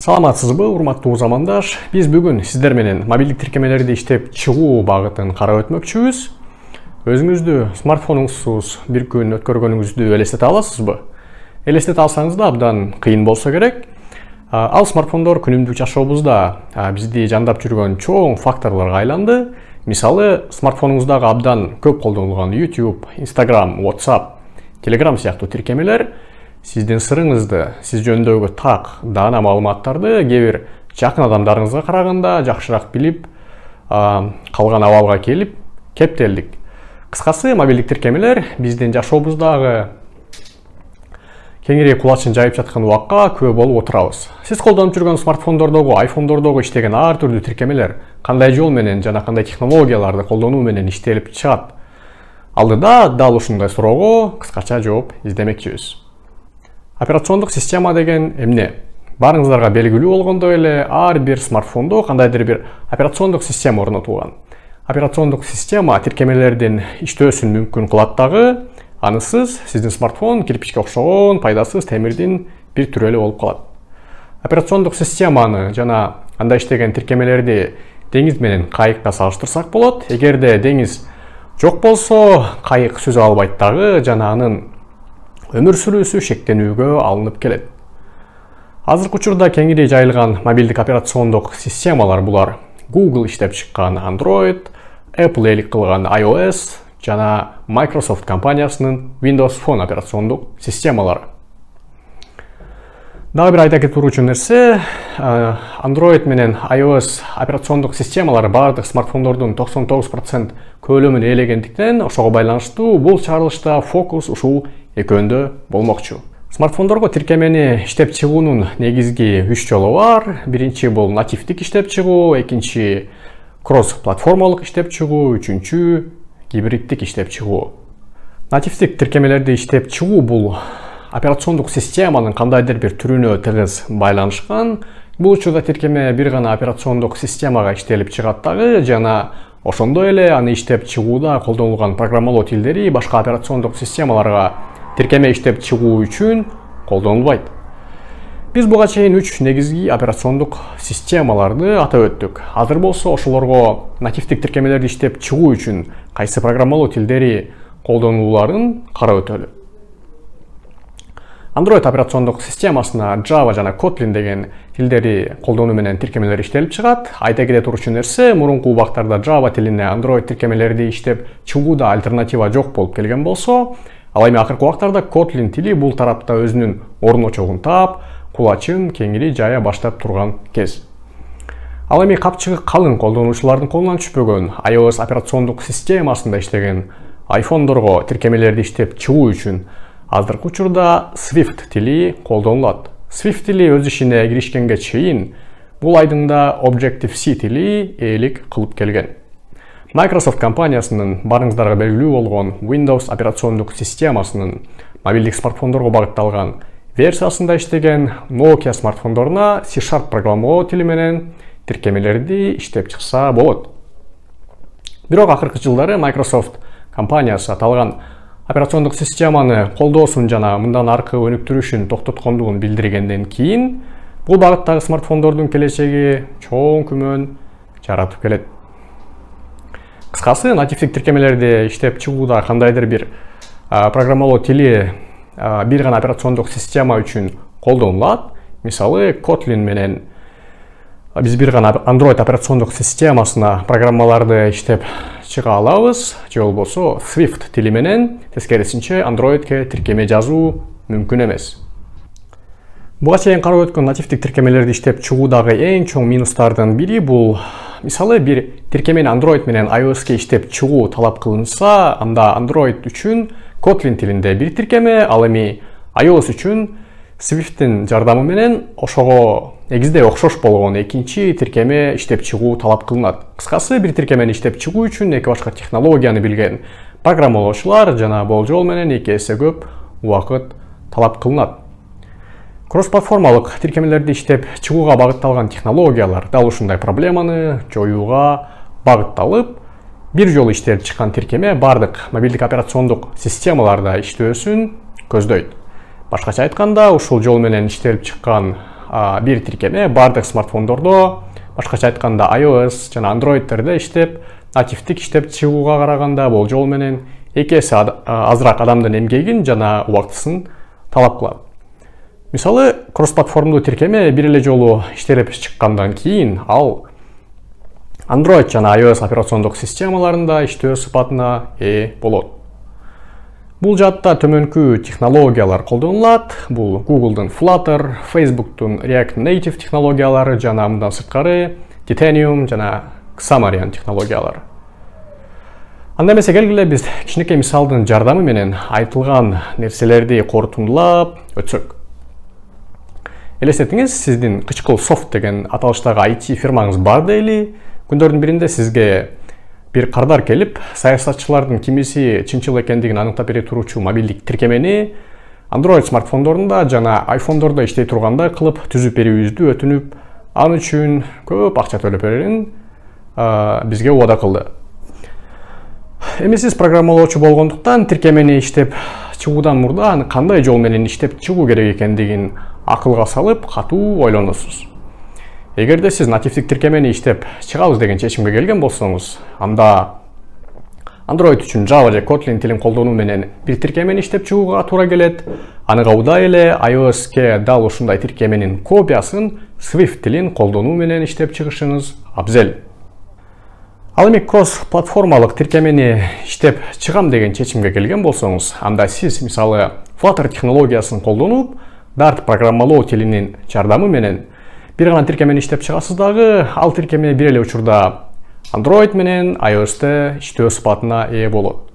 Саламатсызбы, урматтуу замандаш. Биз бүгүн сиздер менен мобилдик тиркемелерди иштеп чыгуу багытын карап өтмөкчүбүз. Өзүңүздү смартфонуңузсуз бир күн өткөргөнүңүздү элестете аласызбы? Элестете алсаңыз да абдан кыйын болсо керек. Ал смартфондор күнүмдүк жашообузда бизди жандап жүргөн чоң факторлорго айланды. Мисалы, смартфонуңуздагы абдан көп колдонулган YouTube, Instagram, WhatsApp, Telegram сыяктуу тиркемелер сиздин сырыңызды, сиз жөнүндөгү так, даана маалыматтарды кээ бир жакын адамдарыңызга караганда жакшыраак билип, калган абалга келип, кептелдик. Кыскасы, мобилдик тиркемелер биздин жашообуздагы кеңири кулачын жайып жаткан убакка күбө болуп отурабыз. Сиз колдонуп жүргөн смартфондордогу, айфондордогу иштеген ар түрдүү тиркемелер кандай жол менен жана кандай технологияларды колдонуу менен иштелип чыгат? Алдыда дал ушундай суроого кыскача жооп издемекчибиз. Операциондук система деген эмне? Барыңыздарга белгилүү болгондой эле ар бир смартфондо кандайдыр бир операциондук система орнотулган. Операциондук система тиркемелердин иштөөсүн мүмкүн кылат дагы, анысыз сиздин смартфон кирпичке окшогон пайдасыз темирдин бир түрү эле болуп калат. Операциондук системаны жана анда иштеген тиркемелерди деңиз менен кайыкка салыштырсак болот. Эгерде деңиз жок болсо, кайык сүзө албайт дагы жана анын өмүр сүрүүсү шектенүүгө алынып келет. Азыркы учурда кеңири жайылган мобилдик операциондук системалар булар Google иштеп чыккан Android, Apple элик кылган iOS жана Microsoft компаниясынын Windows Phone операциондук системалары. Дагы бир айта кетүүчү нерсе, Android менен iOS операциондук системалары бардык смартфондордун 99% көлөмүн ээлегендиктен, ошого байланыштуу бул чыгарылышта фокус ушул экөөндө болмокчу. Смартфондорго тиркемени иштеп чыгуунун негизги 3 жолу бар. Биринчи бул нативдик иштеп чыгуу, экинчи кросс-платформалык иштеп чыгуу, үчүнчү гибриддик иштеп чыгуу. Нативдик тиркемелерди иштеп чыгуу бул операциондук системанын кандайдыр бир түрүнө тыгыз байланышкан. Бул учурда тиркеме бир гана операциондук системага иштелип чыгат дагы жана ошондой эле аны иштеп чыгууда колдонулган программалоо тилдери башка операциондук системаларга тиркеме иштеп чыгуу үчүн колдонулбайт. Биз буга чейин 3 негизги операциондук системаларды атап өттүк. Азыр болсо ошолорго нативдик тиркемелерди иштеп чыгуу үчүн кайсы программалоо тилдери колдонулууларын карап өтөлү. Android операциондук системасына Java жана Kotlin деген тилдери колдонуу менен тиркемелер иштелип чыгат. Айта кете турчу нерсе, мурунку убактарда Java тилине Android тиркемелерди иштеп чыгууда альтернатива жок болуп келген болсо, ал эми акыркы убактарда Kotlin тили бул тарапта өзүнүн орночогун таап, кулачын кеңири жая баштап турган кез. Ал эми капчыгы калың колдонуучулардын колуна түшпөгөн iOS операциондук системасында иштеген айфондорго тиркемелерди иштеп чыгуу үчүн азыркы учурда Swift тили колдонулат. Swift тили өз ишине киришкенге чейин бул айдыңда Objective-C тили ээлик кылып келген. Microsoft компаниясынын барыңыздарга белгилүү болгон Windows операциондук системасынын мобилдик смартфондорго багытталган версиясында иштеген Nokia смартфондоруна C# программалоо тили менен тиркемелерди иштеп чыкса болот. Бирок акыркы жылдары Microsoft компаниясы аталган операциондук системаны колдоосун жана мындан аркы өнүктүрүшүн токтоткондугун билдиргенден кийин бул багыттагы смартфондордун келечеги чоң күмөн жаратып келет. Кыскасы, нативдик тиркемелерди иштеп чыгууда кандайдыр бир программалоо тили бир гана операциондук система үчүн колдонулат. Мисалы, Kotlin менен биз бир гана Android операциондук системасына программаларды иштеп чыга алабыз, же болбосо Swift тили менен тескерисинче Androidке тиркеме жазуу мүмкүн эмес. Буга чейин карап өткөн нативдик тиркемелерди иштеп чыгуудагы эң чоң минустардын бири бул, мисалы, бир тиркемени Android менен iOSке иштеп чыгуу талап кылынса, анда Android үчүн Kotlin тилинде бир тиркеме, ал эми iOS үчүн Swift'тин жардамы менен ошого негизде окшош болгон экинчи тиркеме иштеп чыгуу талап кылынат. Кыскасы, бир тиркемени иштеп чыгуу үчүн эки башка технологияны билген программалоочулар жана болжол менен 2 эсе көп убакыт талап кылынат. Кросс-платформалык тиркемелерди иштеп чыгууга багытталган технологиялар дал ушундай проблеманы жоюуга багытталып, бир жолу иштелип чыккан тиркеме бардык мобилдик операциондук системаларда иштөөсүн көздөйт. Башкача айтканда, ушул жол менен иштелип чыккан бир тиркеме бардык смартфондордо, башкача айтканда iOS жана Android'терде иштеп, нативдик иштеп чыгууга караганда болжол менен 2 эсе азыраак адамдын эмгегин жана убактысын талап кылат. Мисалы, кросс-платформдуу тиркеме бир эле жолу иштелип чыккандан кийин ал Android жана iOS операциондук системаларында иштөө сыпатына ээ болот. Бул жаатта төмөнкү технологиялар колдонулат. Бул Google'дун Flutter, Facebook'тун React Native технологиялары жана мындан сырткары Titanium жана Xamarin технологиялары. Анда эмесе келгиле биз кичинекей мисалдын жардамы менен айтылган нерселерди корутундулап өтсөк. Элестетиңиз, сиздин Кычкыл Софт деген аталыштагы IT фирмаңыз бар дейли. Күндөрдүн биринде сизге бир кардар келип, саясатчылардын кимиси чынчыл экендигин аныктап бере туручу мобилдик тиркемени Android смартфондорунда жана iPhone'дордо иштей тургандай кылып түзүп берүүбүздү өтүнүп, аны үчүн көп акча төлөп берерин бизге убада кылды. Эми сиз программалоочу болгондуктан тиркемени иштеп чыгуудан мурда аны кандай жол менен иштеп чыгуу керек экендигин акылга салып, катуу ойлоносуз. Эгерде сиз нативдик тиркемени иштеп чыгабыз деген чечимге келген болсоңуз, анда Android үчүн Java же Kotlin тилин колдонуу менен бир тиркемени иштеп чыгууга туура келет. Аны кабылдай эле iOS-ке дал ушундай тиркеменин копиясын Swift тилин колдонуу менен иштеп чыгышыңыз абзел. Ал эми кросс-платформалык тиркемени иштеп чыгам деген чечимге келген болсоңуз, анда сиз мисалы Flutter технологиясын колдонуп, Dart программалоо тилинин жардамы менен бир гана тиркемени иштеп чыгасыз дагы, ал тиркеме бир эле учурда Android менен iOS-те иштөө сыпатына ээ болот.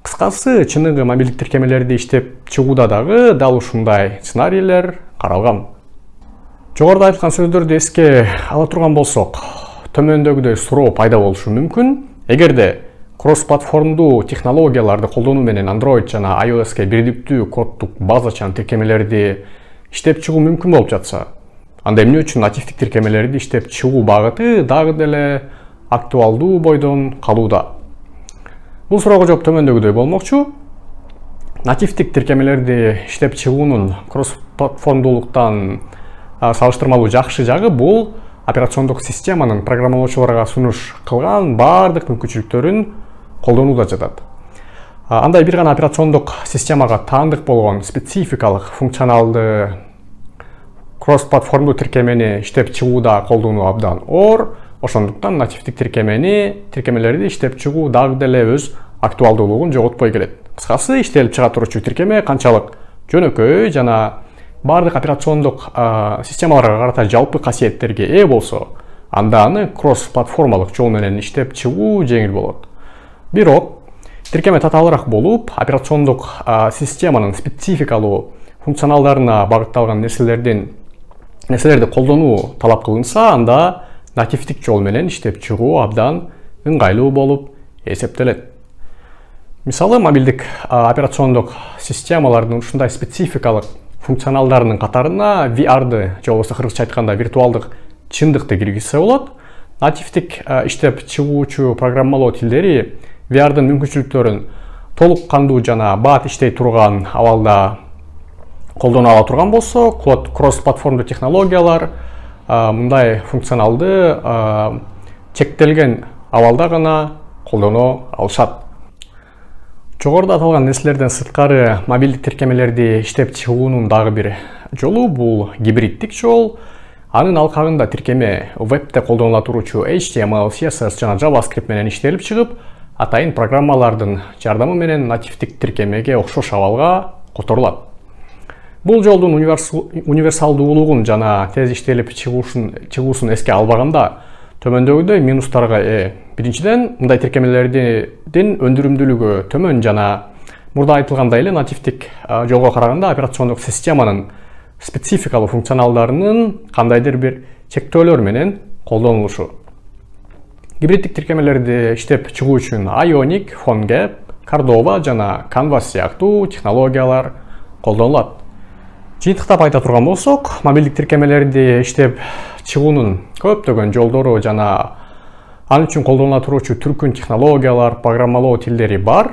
Кыскасы, чыныгы мобилдик тиркемелерди иштеп чыгууда дагы дал ушундай сценарийлер каралган. Жогоруда айткан сөздөрдү эске ала турган болсок, төмөндөгүдөй суроо пайда болушу мүмкүн. Эгерде кросс-платформдуу технологияларды колдонуу менен Android жана iOS-ке бирдиктүү коддук базачан тиркемелерди иштеп чыгуу мүмкүн болуп жатса, анда эмне үчүн нативдик тиркемелерди иштеп чыгуу багыты дагы деле актуалдуу бойдон калууда? Бул суроого жооп төмөндөгүдөй болмокчу. Нативдик тиркемелерди иштеп чыгуунун кросс-платформдуулуктан салыштырмалуу жакшы жагы бул операциондук системанын программалоочуларга сунуш кылган бардык мүмкүнчүлүктөрүн колдонууда жатат. Андай бир гана операциондук системага таандык болгон спецификалык функционалды кросс-платформдуу тиркемени иштеп чыгууда колдонуу абдан оор. Ошондуктан нативдик тиркемелерди иштеп чыгуу дагы деле өз актуалдуулугун жоготпой келет. Кыскасы, иштелип чыга турчу тиркеме канчалык жөнөкөй жана бардык операциондук системаларга карата жалпы касиеттерге ээ болсо, анда аны кросс-платформалык жол менен иштеп чыгуу жеңил болот. Бирок, тиркеме татаалыраак болуп, операциондук системанын спецификалуу функционалдарына багытталган нерселерди колдонуу талап кылынса, анда нативдик жол менен иштеп чыгуу абдан ыңгайлуу болуп эсептелет. Мисалы, мобилдик операциондук системалардын ушундай спецификалык функционалдарынын катарына VR-ды, же болбосо кыргызча айтканда виртуалдык чындыкты киргизсе болот. Нативдик иштеп чыгуучу программалоо тилдери VR-дын мүмкүнчүлүктөрүн толук кандуу жана бат иштей турган абалда колдоно ала турган болсо, кросс-платформдуу технологиялар мындай функционалды чектелген абалда гана колдоно алышат. Жогоруда аталган нерселерден сырткары мобилдик тиркемелерди иштеп чыгуунун дагы бир жолу бул гибриддик жол. Анын алкагында тиркеме вебте колдонула туручу HTML, CSS жана JavaScript менен иштелип чыгып, атайын программалардын жардамы менен нативдик тиркемеге окшош абалга которулат. Бул жолдун универсалдуулугун жана тез иштелип чыгуусун эске албаганда төмөндөгүдөй минустарга ээ. Биринчиден, мындай тиркемелердин өндүрүмдүүлүгү төмөн жана мурда айтылгандай эле нативдик жолго караганда операциондук системанын спецификалуу функционалдарынын кандайдыр бир чектөөлөр менен колдонулушу. Гибриддик тиркемелерди иштеп чыгуу үчүн Ionic, PhoneGap, Cordova жана Canvas сыяктуу технологиялар колдонулат. Жыйынтыктап айта турган болсок, мобилдик тиркемелерди иштеп чыгуунун көптөгөн жолдору жана ал үчүн колдонула туручу түркүн технологиялар, программалоо тилдери бар.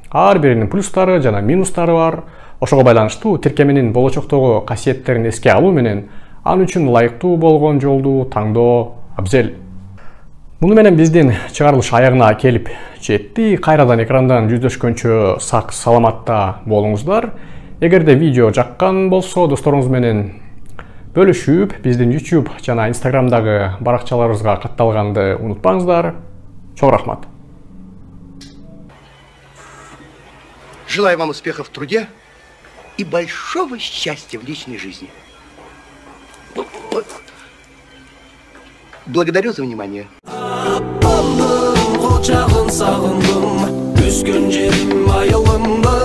Ар биринин плюстары жана минустары бар. Ошого байланыштуу тиркеменин болочоктогу касиеттерин эске алуу менен Ал үчүн ылайыктуу болгон жолду тандоо абзел. Муну менен биздин чыгарылыш аягына келип жетти. Кайрадан экрандан жүздөшкөнчө сак саламатта болуңуздар. Эгерде видео жаккан болсо, досторуңуз менен бөлүшүп, биздин YouTube жана Instagramдагы баракчаларыбызга катталганды унутпаңыздар. Чоң рахмат. Желаю вам успехов в труде и большого счастья в личной жизни. Благодарю за внимание. Сагындым, өскөн жерим айылымды.